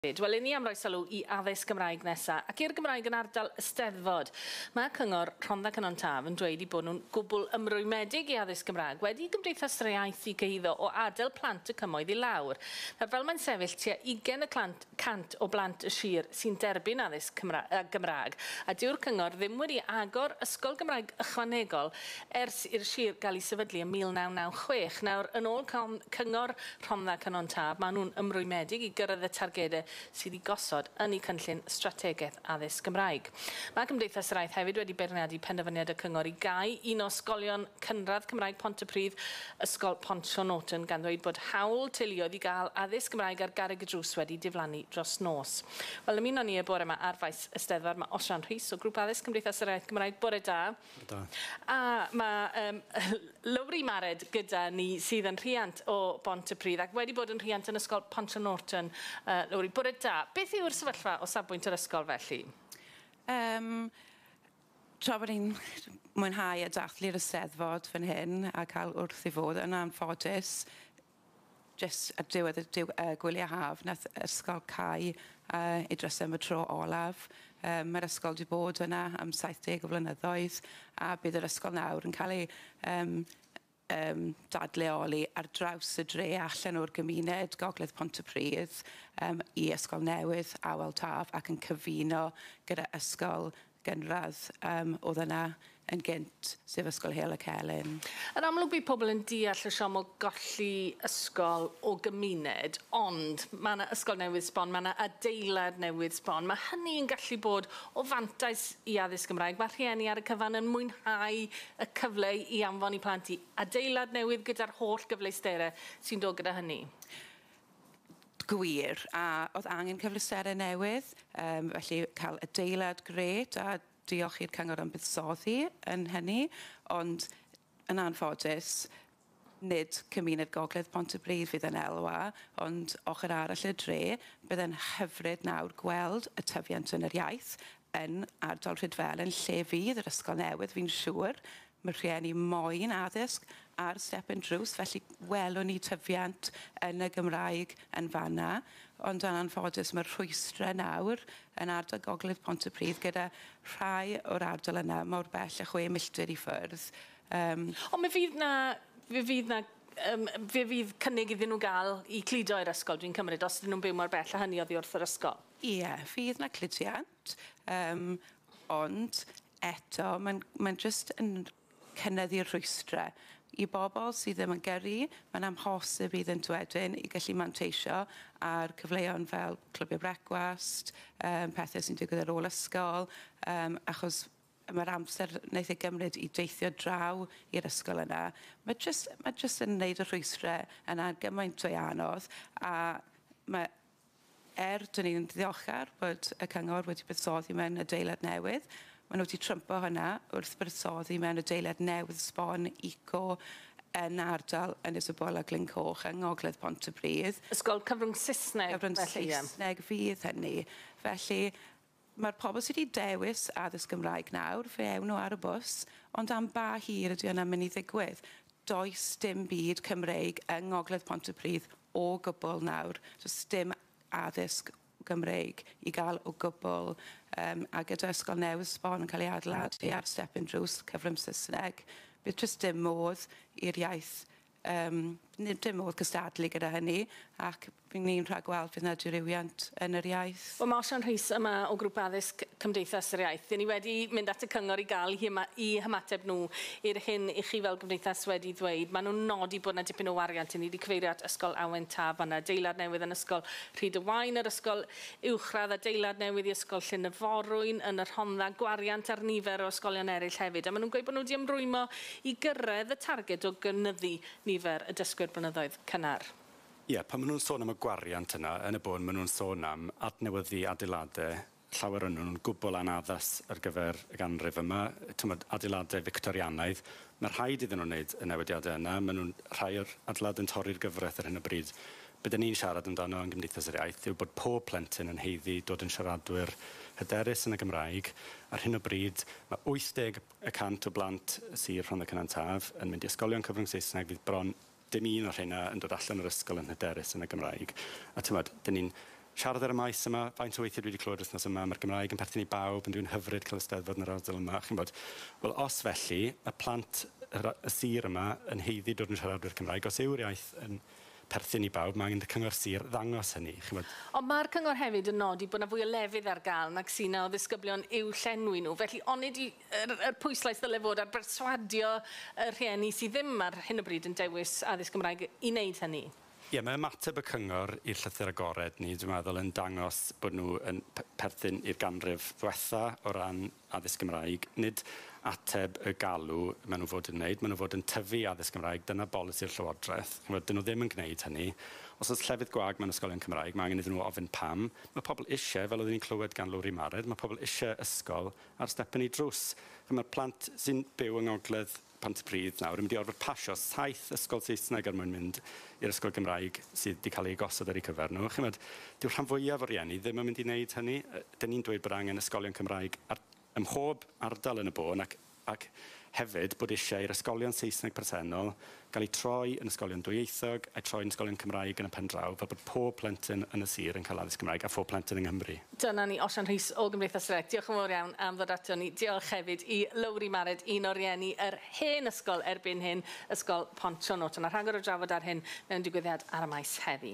Wel, i ni am roi sylw i addysg Gymraeg nesa, ac i'r Gymraeg yn ardal y Steddfod. Mae Cyngor Rhondda Cynon Taf yn dweud eu bod nhw'n gwbl ymrwymedig i addysg Gymraeg wedi i Gymdeithas yr Iaith eu cyhuddo o adael plant y cymoedd i lawr. Nawr, fel mae'n sefyll, tua 20 y cant o blant y sir sy'n derbyn addysg Gymraeg, a dyw'r Cyngor ddim wedi agor ysgol Gymraeg ychwanegol ers i'r sir gael ei sefydlu ym 1996. Nawr, yn ôl Cyngor Rhondda Cynon Taf, maen nhw'n ymrwymedig i gyrraedd y targedau sydd i gosod yn eu cynllun strategaeth addysg Gymraeg. Mae Cymdeithas yr Iaith hefyd wedi beirniadu penderfyniad y Cyngor i gau un o ysgolion cynradd Cymraeg Pontypridd, Ysgol Pont Siôn Norton, gan ddweud bod hawl teuluoedd i gael addysg Gymraeg ar garreg y drws wedi diflannu dros nos. Wel, ymuno ni y bore yma ar faes y Steddfod mae Osian Rhys o Grŵp Addysg Cymdeithas yr Iaith Gymraeg. Bore da. Bore da. A mae Lowri Mared gyda ni sydd yn rhiant o Bontypridd ac wedi bod yn rhiant yn Ysgol Pont Siôn Norton. Lowri, bore da. Beth yw'r sefyllfa o safbwynt yr ysgol felly? Tra bod ni'n mwynhau a dathlu'r Eisteddfod fan hyn a cael wrth ei fodd, yn anffodus, jyst ar diwedd y gwyliau haf, nath ysgol cau ei drysau am y tro olaf. Mae'r ysgol wedi bod yna am 70 o flynyddoedd a bydd yr ysgol nawr yn cael ei dadleoli ar draws y dre allan o'r gymuned Gogledd Pontypridd i ysgol newydd Awel Taf ac yn cyfuno gyda ysgol gynradd oedd yna yn gynt, sef Ysgol Heol y Celyn. Yn amlwg bydd pobl yn deall y siom o golli ysgol o gymuned, ond mae yna ysgol newydd sbon, mae yna adeilad newydd sbon. Mae hynny'n gallu bod o fantais i addysg Gymraeg. Mae rhieni ar y cyfan yn mwynhau y cyfle i anfon eu plant i adeilad newydd gyda'r holl gyfleusterau sy'n dod gyda hynny. Gwir, a oedd angen cyfleusterau newydd, felly cael adeilad grêt a diolch i'r Cyngor am buddsoddi yn hynny, ond yn anffodus, nid cymuned Gogledd Pontypridd fydd yn elwa, ond ochr arall y dre, bydd yn hyfryd nawr gweld y tyfiant yn yr iaith yn ardal Rhydfelen, lle fydd yr ysgol newydd, fi'n siŵr. Mae rhieni moyn addysg ar stepen drws, felly welwn ni tyfiant yn y Gymraeg yn fanna. Ond yn anffodus mae'r rhwystrau nawr yn ardal Gogledd Pontypridd gyda rhai o'r ardal yna mor bell a 6 milltir i ffwrdd. Ond fe fydd cynnig iddyn nhw gael i cludo i'r ysgol, dwi'n cymryd, os ydyn nhw'n byw mor bell a hynny oddi wrth yr ysgol. Ie, fydd na cludiant, ond eto mae'n jyst yn cynyddu'r rhwystrau. I bobl sydd ddim yn gyrru, mae'n amhosib iddynt wedyn i gallu manteisio ar cyfleon fel clybiau brecwast, pethau sy'n digwydd ar ôl ysgol, achos mae'r amser wnaeth ei gymryd i deithio draw i'r ysgol yna. Mae jyst yn wneud y rhwystrau yna gymaint o anodd, a mae, dyn ni'n ddiolchgar bod y Cyngor wedi buddsoddi mewn adeilad newydd. Maen nhw wedi trympo hynna wrth buddsoddi mewn adeilad newydd sbon eco yn ardal Ynys y Bwl a Glyn-coch yng Ngogledd Pontypridd. Ysgol cyfrwng Saesneg. Cyfrwng Saesneg fydd hynny. Felly mae'r pobl sydd wedi dewis addysg Gymraeg nawr, fe ewn nhw ar y bws, ond am ba hir ydy hwnna'n mynd i ddigwydd? Does dim byd Cymreig yng Ngogledd Pontypridd o gwbl nawr. Does dim addysg Gymreig i gael o gwbl, a gyda ysgol newydd sbon yn cael ei adeiladu ar stepen drws cyfrwng Saesneg, bydd jyst dim modd i'r iaith, dim modd cystadlu gyda hynny, ac ni'n rhagweld fydd yna dirywiant yn yr iaith. Wel, mae Osian Rhys yma o Grŵp Addysg Cymdeithas yr Iaith. Dyn ni wedi mynd at y Cyngor i gael i hymateb nhw i'r hyn i chi fel gymdeithas wedi ddweud. Maen nhw'n nodi bod yna dipyn o wariant. Ni wedi cyfeirio at Ysgol Awen Taf, yna adeilad newydd yn Ysgol Rhyd y Waun, yr Ysgol Uwchradd, adeilad newydd i Ysgol Llyn y Forwyn, yn y Rhondda, gwariant ar nifer o ysgolion eraill hefyd. A maen nhw'n gweud bod nhw wedi ymrwymo i gyrraedd y targed o gynyddu nifer y dysgwyr blynyddoedd cynnar. Ie, pan maen nhw'n sôn am y gwariant yna, yn y bôn, maen nhw'n sôn am adnewyddu adeiladau, llawer o'n nhw'n gwbl anaddas ar gyfer y ganrif yma, adeiladau Victorianaidd. Mae rhaid iddyn nhw wneud y newidiadau yna, maen nhw'n rhai o'r adeiladau'n torri'r gyfraith ar hyn o bryd. Be dyn ni'n siarad amdano yn Gymdeithas yr Iaith yw bod pob plentyn yn haeddu dod yn siaradwyr hyderus yn y Gymraeg. Ar hyn o bryd, mae 80% o blant sir Rhondda Cynon Taf yn mynd i ysgolion cyfrwng Saesneg, fydd bron dim un o'r rheina yn dod allan o'r ysgol yn hyderus yn y Gymraeg. A dyn ni'n Siarad ar y maes yma, faint o weithiau dwi wedi clywed wythnos yma, mae'r Gymraeg yn perthyn i bawb, yn dwi'n hyfryd cael Eisteddfod yn yr ardal yma. Chi'n bod, wel, os felly, y plant y sir yma yn haeddu dod yn siaradwyr Cymraeg, os yw'r iaith yn perthyn i bawb, mae angen y cyngor sir ddangos hynny. Chi'n bod. Ond mae'r cyngor hefyd yn nodi bod yna fwy o lefydd ar gael nag sy'n o ddisgyblion i'w llenwi nhw. Felly, onid yr pwyslais ddyle fod ar berswadio y rhieni sydd ddim ar hyn o bryd yn dewis addysg Gymraeg i wneud hynny? Ie, mae ymateb y cyngor i'r llythyr agored ni, dwi'n meddwl, yn dangos bod nhw yn perthyn i'r ganrif ddwetha o ran addysg Gymraeg. Nid ateb y galw maen nhw fod yn wneud, maen nhw fod yn tyfu addysg Gymraeg, dyna bolisi'r Llywodraeth. Dyn nhw ddim yn gwneud hynny. Os oes llefydd gwag mewn ysgolion Cymraeg, mae angen iddyn nhw ofyn pam. Mae pobl eisiau, fel oedden ni'n clywed gan Lowri Mared, mae pobl eisiau ysgol ar stepen i drws. Mae'r plant sy'n byw yng Ngogledd Pontypridd nawr yn mynd i orfod pasio 7 ysgol Saesneg er mwyn mynd i'r ysgol Gymraeg sydd wedi cael ei gosod ar eu cyfer nhw. Chimod, dyw'r rhan fwyaf o rieni ddim yn mynd i wneud hynny. Dyn ni'n dweud bod angen ysgolion Cymraeg ym mhob ardal yn y bôn ac hefyd bod eisiau i'r ysgolion Saesneg presennol gael eu troi yn ysgolion dwyieithog a'i troi yn ysgolion Cymraeg yn y pen draw, fel bod pob plentyn yn y sir yn cael addysg Gymraeg a phob plentyn yng Nghymru. Dyna ni, Osian Rhys o Gymdeithas yr Iaith. Diolch yn fawr iawn am ddod ato ni. Diolch hefyd i Lowri Mared, un o rieni yr hen ysgol erbyn hyn, Ysgol Pont Sionwt. Yna rhagor o drafod ar hyn mewn digwyddiad ar y maes heddi.